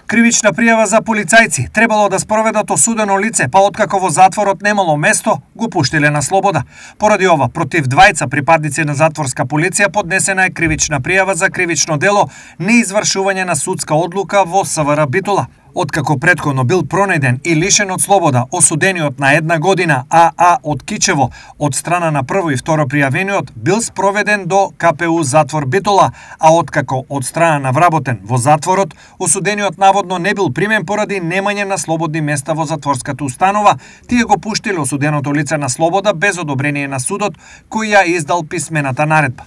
Кривична пријава за полицајци требало да спроведат осудено лице, па откако во затворот немало место, го пуштиле на слобода. Поради ова, против двајца припадници на затворска полиција поднесена е кривична пријава за кривично дело неизвршување на судска одлука во СВР Битола. Откако претходно бил пронајден и лишен од слобода, осудениот на 1 година АА од Кичево од страна на прво и второ пријавениот бил спроведен до КПУ затвор Битола, а откако од страна на вработен во затворот, осудениот наводно не бил примен поради немање на слободни места во затворската установа, тие го пуштиле осуденото лице на слобода без одобрение на судот кој ја издал писмената наредба.